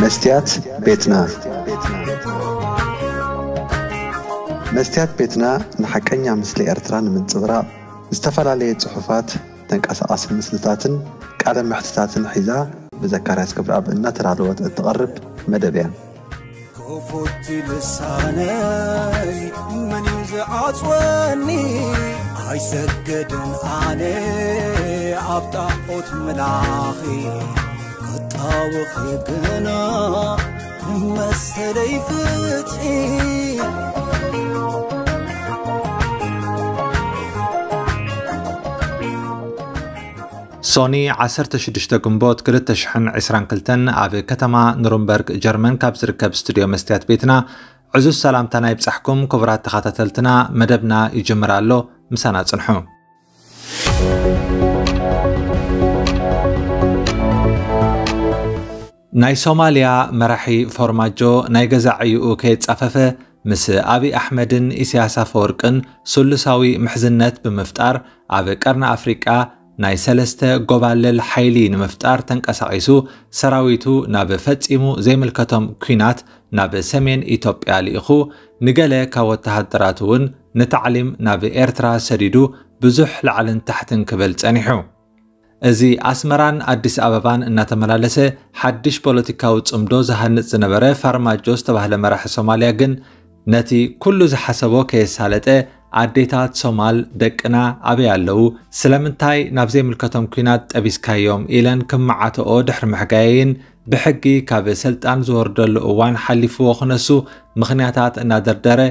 መስትያት ቤትና። መስትያት ቤትና ንሓቀኛ ምስሊ ኤርትራ ንምንጽብራቕ ዝተፈላለየ ጽሑፋት፣ ተንቀሳቓሲ ምስልታትን ቃለ መሕትታትን ሒዛ ብዘካርያስ ገብረኣብ እናተዳለወት እትቐርብ መደብ እያ። ክፉት ልሳነይ መን እዩ ዝዓጽወኒ? ኣይሰግድን ኣነ ኣብ ጣዖት ምላኺ፣ ክጣወኺ ግና መሰለይ ፍትሒ። ሶኒ ዓሰርተ ሽዱሽተ ግንቦት ክልተ ሽሕን ዕስራን ክልተን ኣብ ከተማ ኑርንበርግ ጀርመን ካብ ዝርከብ ስቱድዮ መስትያት ቤትና ዕዙዝ ሰላምታና ይብጻሕኩም ክቡራት ተኸታተልትና። መደብና ይጅምር ኣሎ፣ ምሳና ጽንሑ። ናይ ሶማልያ መራሒ ፎርማጆ ናይ ገዛ ዕዩኡ ከየጻፈፈ ምስ ኣብይ ኣሕመድን ኢሳያስ ኣፈወርቅን ስሉሳዊ ምሕዝነት ብምፍጣር ኣብ ቀርኒ ኣፍሪቃ ናይ ሰለስተ ጎባልል ሓይሊ ንምፍጣር ተንቀሳቒሱ ሰራዊቱ ናብ ፈጺሙ ዘይምልከቶም ኲናት ናብ ሰሜን ኢትዮጵያ ልኢኹ ንገለ ካብ ወተሃደራቱ እውን ንታዕሊም ናብ ኤርትራ ሰዲዱ ብዙሕ ላዕልን ታሕትን ክብል ጸኒሑ። እዚ ኣስመራን ኣዲስ ኣበባን እናተመላለሰ ሓድሽ ፖለቲካዊ ጽምዶ ዝሃንጽ ዝነበረ ፋርማጆ ዝተባህለ መራሒ ሶማልያ ግን ነቲ ኩሉ ዝሓሰቦ ከየሳለጠ ኣዴታት ሶማል ደቅና ኣበይ ኣለዉ? ስለምንታይ ናብ ዘይምልከቶም ኲናት ጠቢስካዮም? ኢለን ክመዓተኦ ድሕሪ ምሕጋየይን ብሕጊ ካብ ስልጣን ዝወርደሉ እዋን ሓሊፍዎ ክነሱ ምኽንያታት እናደርደረ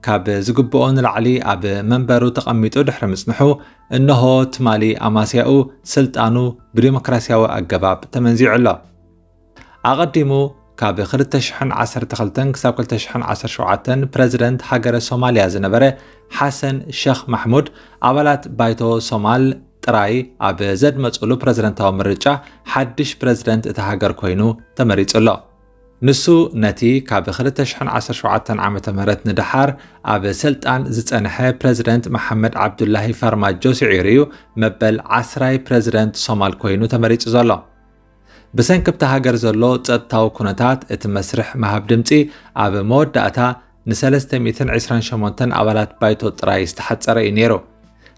ካብ ዝግብኦ ንላዕሊ ኣብ መንበሩ ተቐሚጡ ድሕሪ ምጽንሑ፣ እንሆ ትማሊ ኣማስያኡ ስልጣኑ ብዲሞክራሲያዊ ኣገባብ ተመንዚዑ ኣሎ። ኣቐዲሙ ካብ ክልተ ሽሕን ዓሰርተ ክልተን ክሳብ ክልተ ሽሕን ዓሰርተ ሸውዓተን ፕረዚደንት ሃገረ ሶማልያ ዝነበረ ሓሰን ሸኽ ማሕሙድ ኣባላት ባይቶ ሶማል ጥራይ ኣብ ዘድመጹሉ ፕረዚደንታዊ ምርጫ ሓድሽ ፕረዚደንት እታ ሃገር ኮይኑ ተመሪጹ ኣሎ። ንሱ ነቲ ካብ ክልተ ሽሕን ዓሰርተ ሸውዓተን ዓመተ ምህረት ንደሓር ኣብ ስልጣን ዝጸንሐ ፕረዚደንት መሓመድ ዓብዱላሂ ፋርማጆ ስዒሩ እዩ መበል ዓስራይ ፕረዚደንት ሶማል ኮይኑ ተመሪጹ ዘሎ። ብሰንኪ ኣብታ ሃገር ዘሎ ጸጥታዊ ኩነታት እቲ መስርሕ ምሃብ ድምጺ ኣብ መወዳእታ ንሰለስተ ሚእትን ዕስራን ሸሞንተን ኣባላት ባይቶ ጥራይ ዝተሓጸረ እዩ ነይሩ።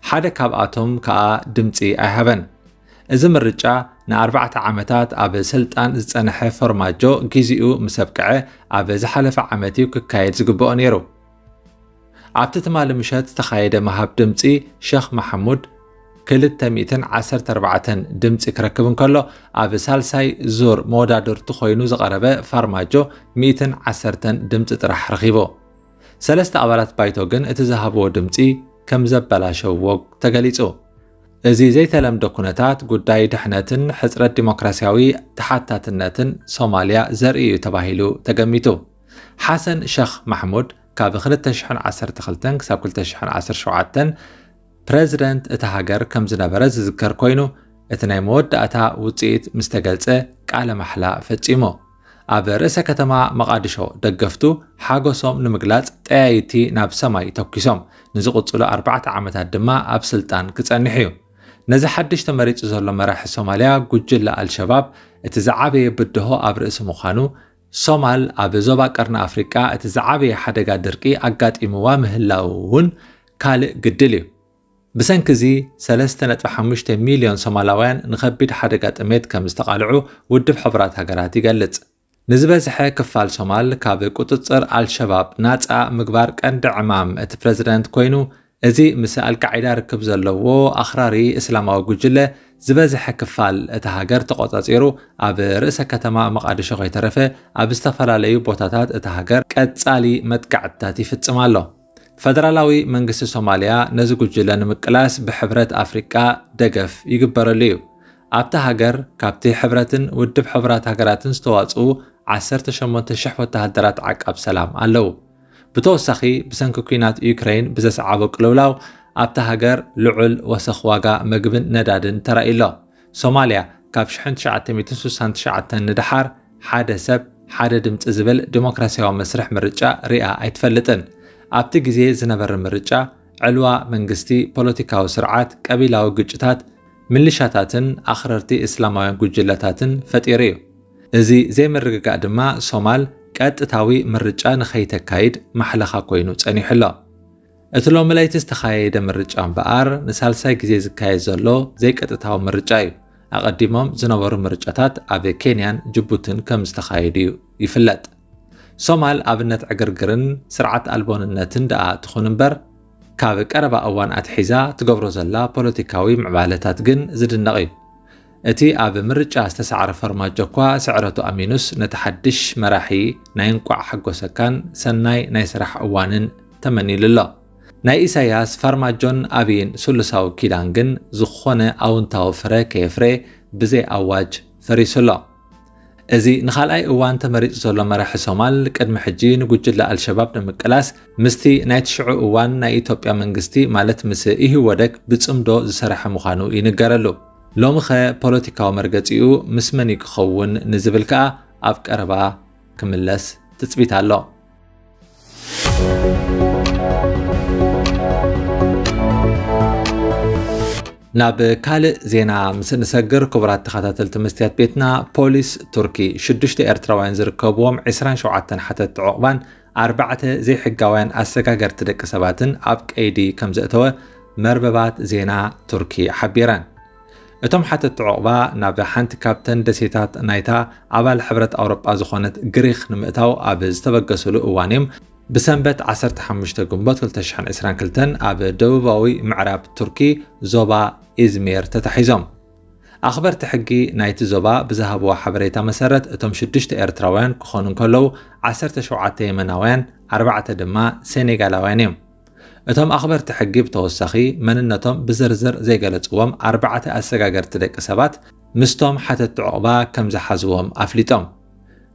ሓደ ካብኣቶም ከኣ ድምጺ ኣይሃበን። እዚ ምርጫ ንኣርባዕተ ዓመታት ኣብ ስልጣን ዝጸንሐ ፎርማጆ ግዜኡ ምስ ኣብቅዐ ኣብ ዝሓለፈ ዓመት እዩ ክካየድ ዝግብኦ ነይሩ። ኣብቲ ትማሊ ምሸት ዝተኻየደ ምሃብ ድምጺ ሸኽ መሓሙድ ክልተ ሚእትን ዓሰርተ ኣርባዕተን ድምጺ ክረክብ እንከሎ፣ ኣብ ሳልሳይ ዙር መወዳድርቱ ኮይኑ ዝቐረበ ፋርማጆ ሚእትን ዓሰርተን ድምጺ ጥራሕ ረኺቡ። ሰለስተ ኣባላት ባይቶ ግን እቲ ዝሃብዎ ድምጺ ከም ዘበላሸውዎ ተገሊጹ። እዚ ዘይተለምደ ኩነታት ጉዳይ ድሕነትን ሕጽረት ዲሞክራሲያዊ ተሓታትነትን ሶማልያ ዘርኢ እዩ ተባሂሉ ተገሚቱ። ሓሰን ሸኽ ማሕሙድ ካብ ክልተ ሽሕን ዓሰርተ ክልተን ክሳብ ክልተ ሽሕን ዓሰርተ ሸውዓተን ፕረዚደንት እታ ሃገር ከም ዝነበረ ዝዝከር ኮይኑ፣ እቲ ናይ መወዳእታ ውጽኢት ምስ ተገልጸ ቃለ ማሕላ ፈጺሙ። ኣብ ርእሰ ከተማ መቓድሾ ደገፍቱ ሓጎሶም ንምግላጽ ጠያይቲ ናብ ሰማይ ተኩሶም። ንዝቕጽሉ ኣርባዕተ ዓመታት ድማ ኣብ ስልጣን ክጸንሕ እዩ። ነዚ ሓድሽ ተመሪጹ ዘሎ መራሒ ሶማልያ ጉጅለ ኣልሸባብ እቲ ዝዓበየ ብድሆ ኣብ ርእሲ ምዃኑ፣ ሶማል ኣብ ዞባ ቀርኒ ኣፍሪቃ እቲ ዝዓበየ ሓደጋ ድርቂ ኣጋጢምዋ ምህላው እውን ካልእ ግድል እዩ። ብሰንኪ እዚ ሰለስተ ነጥቢ ሓሙሽተ ሚልዮን ሶማላውያን ንኸቢድ ሓደጋ ጥሜት ከም ዝተቓልዑ ውድብ ሕቡራት ሃገራት ይገልጽ። ንዝበዝሐ ክፋል ሶማል ካብ ቁጽጽር ኣልሸባብ ናጻ ምግባር ቀንዲ ዕማም እቲ ፕረዚደንት ኮይኑ፣ እዚ ምስ ኣልቃዒዳ ርክብ ዘለዎ ኣኽራሪ እስላማዊ ጉጅለ ዝበዝሐ ክፋል እታ ሃገር ተቖጻጺሩ፣ ኣብ ርእሰ ከተማ መቓድሾ ከይተረፈ ኣብ ዝተፈላለዩ ቦታታት እታ ሃገር ቀጻሊ መጥቃዕትታት ይፍጽም ኣሎ። ፈደራላዊ መንግስቲ ሶማልያ ነዚ ጉጅለ ንምቅላስ ብሕብረት ኣፍሪቃ ደገፍ ይግበረሉ እዩ። ኣብታ ሃገር ካብቲ ሕብረትን ውድብ ሕቡራት ሃገራትን ዝተዋጽኡ ዓሰርተ ሸሞንተ ሽሕ ወተሃደራት ዓቃብ ሰላም ኣለዉ። ብተወሳኺ፣ ብሰንኪ ኲናት ዩክረይን ብዘስዓቦ ቅልውላው ኣብታ ሃገር ልዑል ወሰኽ ዋጋ መግብን ነዳድን ተራእዩ ኣሎ። ሶማልያ ካብ ሽሕን ትሽዓተ ሚእትን ስሳን ትሽዓተን ንደሓር ሓደ ሰብ ሓደ ድምጺ ዝብል ዲሞክራሲያዊ መስርሕ ምርጫ ሪኣ ኣይትፈልጥን። ኣብቲ ግዜ ዝነበረ ምርጫ፣ ዕልዋ መንግስቲ፣ ፖለቲካዊ ስርዓት፣ ቀቢላዊ ግጭታት፣ ሚሊሻታትን ኣኽረርቲ እስላማውያን ጉጅለታትን ፈጢሩ እዩ። እዚ ዘይምርግጋእ ድማ ሶማል ቀጥታዊ ምርጫ ንኸይተካይድ ማሕለኻ ኮይኑ ጸኒሑ ኣሎ። እቲ ሎሚ ለይቲ ዝተኻየደ ምርጫ እምበኣር ንሳልሳይ ግዜ ዝካየድ ዘሎ ዘይቀጥታዊ ምርጫ እዩ። ኣቐዲሞም ዝነበሩ ምርጫታት ኣብ ኬንያን ጅቡትን ከም ዝተኻየዱ እዩ ይፍለጥ። ሶማል ኣብነት ዕግርግርን ስርዓት ኣልቦንነትን ደኣ ትኹን እምበር፣ ካብ ቀረባ እዋን ኣትሒዛ ትገብሮ ዘላ ፖለቲካዊ ምዕባለታት ግን ዝድነቕ እዩ። እቲ ኣብ ምርጫ ዝተሳዕረ ፈርማጆ እኳ ስዕረቱ ኣሚኑስ፣ ነቲ ሓድሽ መራሒ ናይ እንቋዕ ሓጎሰካን ሰናይ ናይ ስራሕ እዋንን ተመኒሉ ኣሎ። ናይ ኢሳያስ፣ ፋርማጆን ኣቢይን ስሉሳዊ ኪዳን ግን ዝኾነ ኣውንታዊ ፍረ ከየፍረ ብዘይ ኣዋጅ ፈሪሱ ኣሎ። እዚ ንኻልኣይ እዋን ተመሪጹ ዘሎ መራሒ ሶማል፣ ቅድሚ ሕጂ ንጉጅለ ኣልሸባብ ንምቅላስ ምስቲ ናይቲ ሽዑ እዋን ናይ ኢትዮጵያ መንግስቲ፣ ማለት ምስ ኢህወደግ ብጽምዶ ዝሰረሐ ምዃኑ ይንገረሉ። ሎሚኸ ፖለቲካዊ መርገጺኡ ምስ መን እዩ ክኸውን ንዝብል ከኣ ኣብ ቀረባ ክምለስ ትጽቢት ኣሎ። ናብ ካልእ ዜና ምስ እንሰግር፣ ክቡራት ተኸታተልቲ መስትያት ቤትና፣ ፖሊስ ቱርኪ ሽዱሽተ ኤርትራውያን ዝርከብዎም ዕስራን ሸውዓተን ሓተትቲ ዑቕባን ኣርባዕተ ዘይሕጋውያን ኣሰጋገርቲ ደቂ ሰባትን ኣብ ቀይዲ ከም ዘእተወ መርበባት ዜና ቱርኪ ሓቢረን። እቶም ሓተትቲ ዑቕባ ናብ ሓንቲ ካብተን ደሴታት ናይታ ኣባል ሕብረት ኣውሮጳ ዝኾነት ግሪኽ ንምእታው ኣብ ዝተበገስሉ እዋን እዮም ብሰንበት ዓሰርተ ሓሙሽተ ግንቦት ክልተ ሽሕን ዕስራን ክልተን ኣብ ደቡባዊ ምዕራብ ቱርኪ ዞባ ኢዝሚር ተታሒዞም። ኣኽበርቲ ሕጊ ናይቲ ዞባ ብዝሃብዎ ሓበሬታ መሰረት፣ እቶም ሽዱሽተ ኤርትራውያን ክኾኑ እንከለዉ፣ ዓሰርተ ሸውዓተ የመናውያን፣ ኣርባዕተ ድማ ሴኔጋላውያን እዮም። እቶም ኣኽበርቲ ሕጊ ብተወሳኺ፣ መንነቶም ብዝርዝር ዘይገለጽዎም ኣርባዕተ ኣሰጋገርቲ ደቂ ሰባት ምስቶም ሓተትቲ ዑቕባ ከም ዝሓዝዎም ኣፍሊጦም።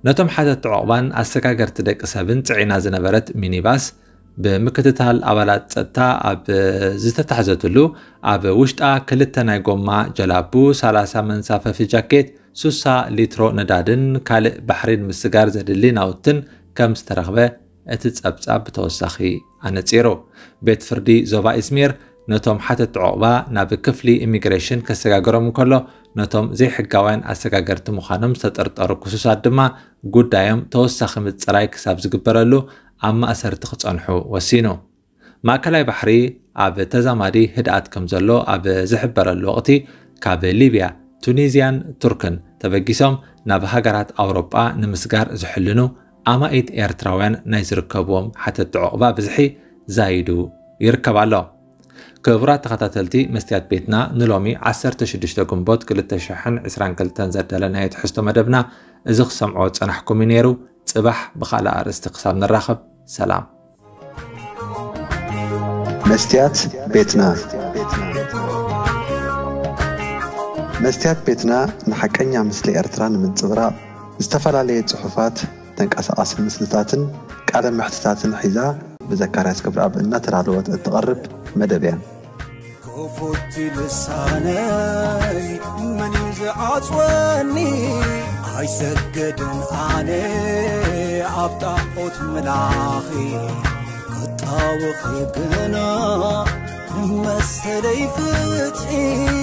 ነቶም ሓተትቲ ዑቕባን ኣሰጋገርቲ ደቂ ሰብን ጽዒና ዝነበረት ሚኒባስ፣ ብምክትታል ኣባላት ጸጥታ ኣብ ዝተታሕዘትሉ፣ ኣብ ውሽጣ ክልተ ናይ ጎማ ጀላቡ፣ ሰላሳ መንሳፈፊ ጃኬት፣ ሱሳ ሊትሮ ነዳድን ካልእ ባሕሪ ንምስጋር ዘድሊ ናውትን ከም ዝተረኽበ እቲ ጸብጻብ ብተወሳኺ ኣነጺሩ። ቤት ፍርዲ ዞባ ኢዝሚር ነቶም ሓተትቲ ዑቕባ ናብ ክፍሊ ኢሚግሬሽን ከሰጋግሮም እንከሎ፣ ነቶም ዘይሕጋውያን ኣሰጋገርቲ ምዃኖም ዝተጠርጠሩ ክሱሳት ድማ ጉዳዮም ተወሳኺ ምጽራይ ክሳብ ዝግበረሉ ኣብ ማእሰርቲ ክጸንሑ ወሲኑ። ማእከላይ ባሕሪ ኣብ ተዛማዲ ህድኣት ከም ዘሎ ኣብ ዝሕበረሉ ወቕቲ፣ ካብ ሊብያ፣ ቱኒዝያን ቱርክን ተበጊሶም ናብ ሃገራት ኣውሮጳ ንምስጋር ዝሕልኑ ኣማኢት ኤርትራውያን ናይ ዝርከብዎም ሓተትቲ ዑቕባ ብዝሒ ዛይዱ ይርከብ ኣሎ። ክቡራት ተኸታተልቲ መስትያት ቤትና፣ ንሎሚ ዓሰርተ ሽዱሽተ ግንቦት ክልተ ሽሕን ዕስራን ክልተን ዘዳለናዮ ትሕዝቶ መደብና እዚ ክሰምዖ ዝጸናሕኩም እዩ ነይሩ። ጽባሕ ብኻልእ ኣርእስቲ ክሳብ ንራኸብ፣ ሰላም። መስትያት ቤትና። መስትያት ቤትና ንሓቀኛ ምስሊ ኤርትራ ንምንጽብራቕ፣ ዝተፈላለየ ጽሑፋት፣ ተንቀሳቓሲ ምስልታትን ቃለ መሕትታትን ሒዛ፣ ብዘካርያስ ክብረኣብ እናተዳለወት እትቐርብ መደብ እያ። ክፉት ልሳነይ መን እዩ ዝዓጽወኒ? ኣይሰግድን ኣነ ኣብ ጣዖት ምላኺ፣ ክጣወኺ ግና መሰለይ ፍትሒ።